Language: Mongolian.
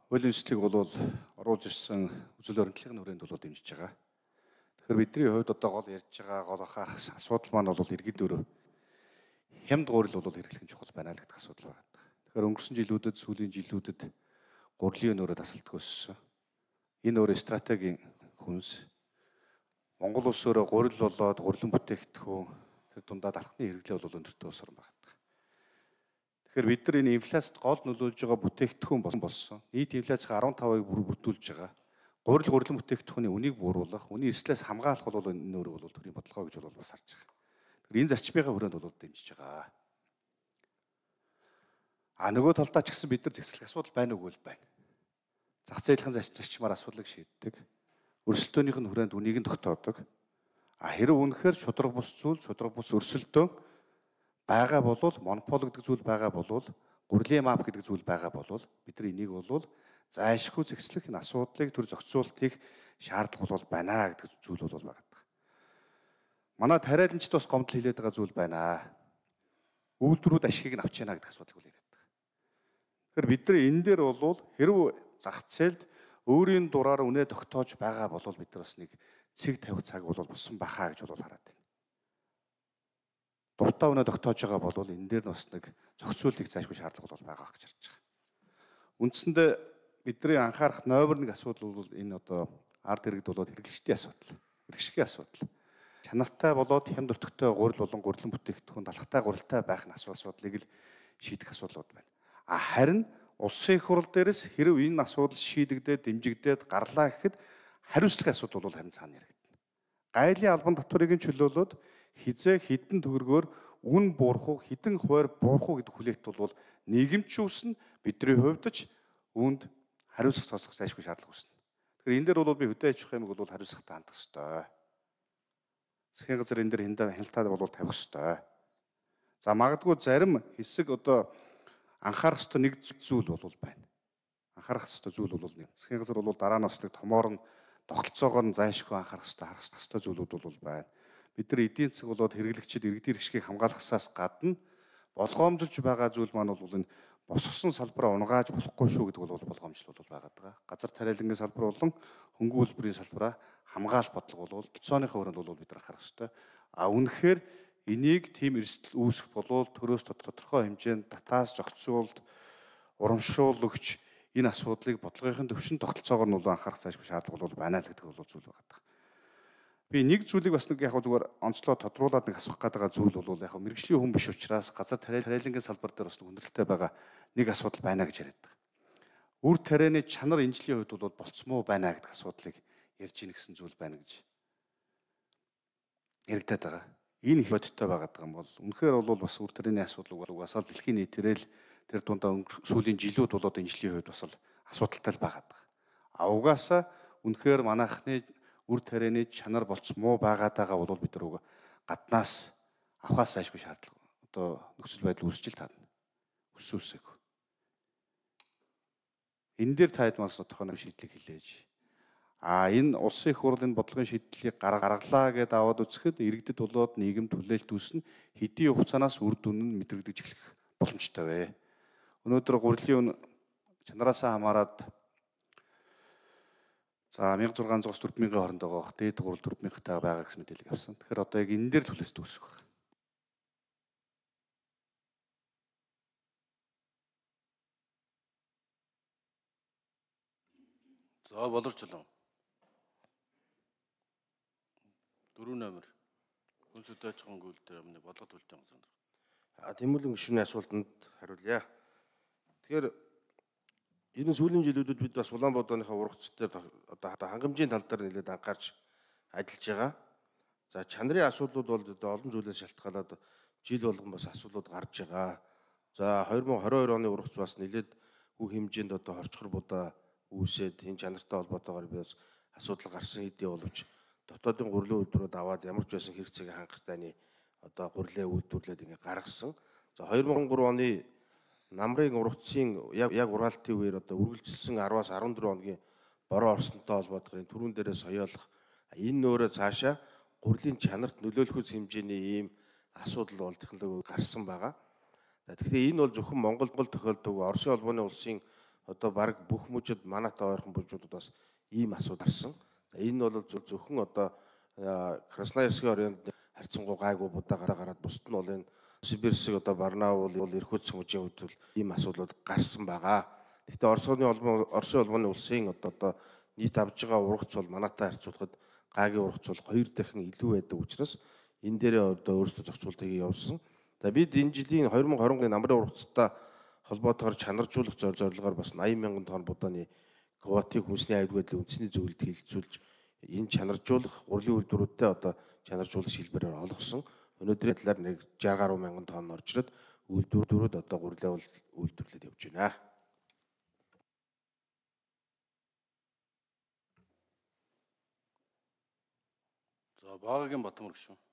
Хуулийн төслийг бол оруулж ирсэн үзэл баримтлалын хүрээнд бол дэмжиж байгаа. Тэгэхээр бидний хувьд одоо гол ярьж байгаа гол анхаарах асуудал маань бол иргэд өөрөө хямд гурил бол хэрэглэх нь чухал байна л гэдэг асуудал байна. Тэгэхээр өнгөрсөн жилүүдэд сүүлийн жилүүдэд гурилын өнөөрөө тасалдах өссөн. Энэ өөрөө стратегийн хүнс. Монгол улс өөрөө гурил болоод гурилан бүтээгдэхүүн тэр дундаад алхны хэрэглээ бол өндөртөө өсөрн байна. Тэгэхээр бид нар энэ инфляцид гол нөлөөлж байгаа бүтээгдэхүүн болсон. Нийт инфляцийн 15%-ыг бүрдүүлж байгаа. Гурилан бүтээгдэхүүний үнийг бууруулах, үнийн эрсдлээс хамгаалах бол энэ өөрөө бол төрийн бодлого гэж бол бас харж байгаа. Тэгэхээр энэ зарчмынхаа хүрээнд бол дэмжиж байгаа. Нөгөө талдаа ч гэсэн бид нар зэгцлэх асуудал байна уу гэвэл байна. Зах зээлийн зарчмаар асуудлыг шийддэг. Өрсөлдөөнийх нь хүрээнд үнийг нь тогтоодог. Хэрэг үнэхээр шудраг бус өрсөлдөөн байгаа болвол монопол гэдэг зүйл байгаа болвол гурилын мап гэдэг зүйл байгаа болвол бид нар энийг бол зайлшгүй зэгцлэх энэ асуудлыг төр зохицуултыг шаардлага бол байна гэдэг зүйл бол байгаа. Манай тариаланчд бас гомдол хэлээд байгаа зүйл байна. Үйлдвэрүүд ашигыг нь авч яана гэдэг асуудлыг бол яриад байгаа. Тэгэхээр бид нар энэ дээр бол хэрв зах зээлд өөрийн дураар үнэ тогтоож байгаа бол бид нар бас нэг цэг тавих цаг бол болсон бахаа гэж бол хараад байна. Дуртай үнэ тогтоож байгаа бол энэ дээр бас нэг зохицуултыг зайлшгүй шаардлага бол байгаа гэж харж байгаа. Үндсэндээ бидний анхаарах номер 1 асуудал бол энэ одоо ард иргэд болоод хэрэглэгчдийн асуудал, хэрэгшгийн асуудал. Чанартай болоод хямд өртөгтэй гурил болон гурилан бүтээгдэхүүн талхтай гурилтай байх нь асуудлыг л шийдэх асуудлууд байна. Харин улсын их хурл дээрээс хэрв энэ асуудал шийдэгдээд дэмжигдээд гарлаа гэхэд хариуцлагын асуудал бол харин цаана яригдана. Гайлын албан татварыг чөлөөлөөд хизээ хідэн төгрөгөөр үн буурах уу, хідэн хуваар буурах уу гэдэг хүлээлт бол нийгэмчүүлсэн бидний хувьд ч үүнд хариуцлага цоцох зайлшгүй шаардлага үүснэ. Тэгэхээр энэ дээр бол би хөдөө аж ахуйн хэмжээг бол хариуцлагатай хандах ёстой. Засгийн газар энэ дээр хяналтаа бол тавих ёстой. За магадгүй зарим хэсэг одоо анхаарах ёстой нэг зүйл бол байна. Анхаарах ёстой зүйл бол нэг. Засгийн газар бол дараа нь бас нэг томоор нь тогтолцоогоор нь зайлшгүй анхаарах ёстой зүйлүүд бол байна. Бид нар эдийн засаг болоод хэрэглэгчид иргэдийн хэрэгшгийг хамгаалахаас гадна болгоомжлж байгаа зүйл маань бол энэ босгосон салбараа унгааж болохгүй шүү гэдэг бол болгоомжлол бол байгаа даа. Газар тариалангийн салбар болон хөнгөн үйлдвэрийн салбараа хамгаалах бодлого бол тооцооныхоо хүрээнд бол бид нар анхаарах ёстой. Үнэхээр энийг тийм эрсдэл үүсэх болвол төрөөс тодорхой хэмжээнд татаас зохицуулт, урамшууллагч энэ асуудлыг бодлогын төвшин тогтолцоогоор нь анхаарах зайлшгүй шаардлага бол байна л гэдэг бол зүйл байгаа. Би нэг зүйлийг бас нэг яг зүгээр онцлоо тодруулаад нэг асуух гэдэг зүйл бол яг мэрэгжлийн хүн биш учраас газар тариалангийн салбар дээр бас хүндрэлтэй байгаа нэг асуудал байна гэж яриад байгаа. Үр тарианы чанар энэ жилийн хувьд бол болцмоо байна гэдэг асуудлыг ярьж ийн гэсэн зүйл байна гэж яригадаад байгаа. Энэ их бодиттой байгаад байгаа юм бол үнэхээр бол бас үр тарианы асуудал угаасаа дэлхийн нийтээрээ л тэр дундаа сүүлийн жилүүд болоод энэ жилийн хувьд бас асуудалтай л байгаад байгаа. Угаасаа үнэхээр манайхны үр тарианы чанар болцмоо байгаад байгаа бол бид нар гаднаас авахаас зайлшгүй шаардлага одоо нөхцөл байдал үүсчил таадна. Өсөөсөг. Энэ дээр таад мас тодорхой нэг шийдлийг хэлээж. Энэ улсын их хурлын бодлогын шийдлийг гаргалаа гэдээ аваад үзэхэд иргэдэд болоод нийгэм түлээлт үүснэ хэдийн хугацаанаас үр дүн нь мэдрэгдэж эхлэх боломжтой вэ. Өнөөдөр гурилын чанараасаа хамаарат 1600-аас 4000-ийн хооронд байгаа. Дээд гурил 4000-тай байгаа гэсэн мэдээлэл авсан. Тэгэхээр одоо яг энэ дээр түлээс төгсөх байх. За болорч лөө. 4 номер. Хүн хөдөө аж ахуйн гүйлтээр өмнө бодлого төлөлтийн газар. Тэмүүлэн гишүүний асуултанд хариулъя. Тэгэхээр энэ сүүлийн жилүүдэд бид бас Улаанбаатарынхаа ургац дээр одоо хангамжийн тал дээр нэлээд анхаарч ажиллаж байгаа. За чанарын асуудлууд бол олон зүйлээс шалтгаалаад жил болгон бас асуудлууд гарч байгаа. За 2022 оны ургац бас нэлээд бүх хэмжээнд одоо хорчхор будаа үүсээд энэ чанартай холбоотойгоор би бас асуудал гарсан хэдий боловч дотоодын гурилын үйлдвэрүүд аваад ямар ч байсан хэрэгцээг хангах таны одоо гурилаа үйлдвэрлээд ингээ гаргасан. За 2003 оны намрын ургацын яг ургаалтын үеэр одоо үргэлжилсэн 10-аас 14 хоногийн бороо орсонтой холбоотойгоор түрүүн дээрээ соёолох энэ нөөрэ цаашаа гурилын чанарт нөлөөлөх хэмжээний ийм асуудал бол технологи гарсан байгаа. Тэгэхээр энэ бол зөвхөн Монгол тохиолддог Оросын холбооны улсын одоо баг бүх мужид манайтай ойрхон мужуудаас ийм асуудал гарсан. За энэ бол зөвхөн одоо Красноярскийн оройнд харьцангуй гайгүй будаа гараад бусд нь бол энэ Сибирсэг одоо Барнаул Иркутск мужийн үед бол ийм асуудлууд гарсан байгаа. Гэхдээ Оросын улманы улсын одоо нийт авж байгаа ургац бол манайтай харьцуулахад гаагийн ургац бол 2 дахин илүү байдаг учраас энэ дээрээ одоо өөрсдөө зохицуултыг явуулсан. За бид энэ жилийн 2020 намрын ургацтай холбоотойгоор чанаржуулах зорилгоор бас 80,000 тонн будааны квотыг хүнсний аюул байдлын үндэсний зөвлөлд хилцүүлж энэ чанаржуулах урлагийн үйлдвэрүүдтэй одоо чанаржуулах шилбэрээр олгосон. Өнөөдрийн талаар нэг 60 гаруй мянган тонн орчроод үйлдвэрүүд одоо гурилан үйлдвэрлээд явж байна. За Багагийн Батмөр гүшүүн.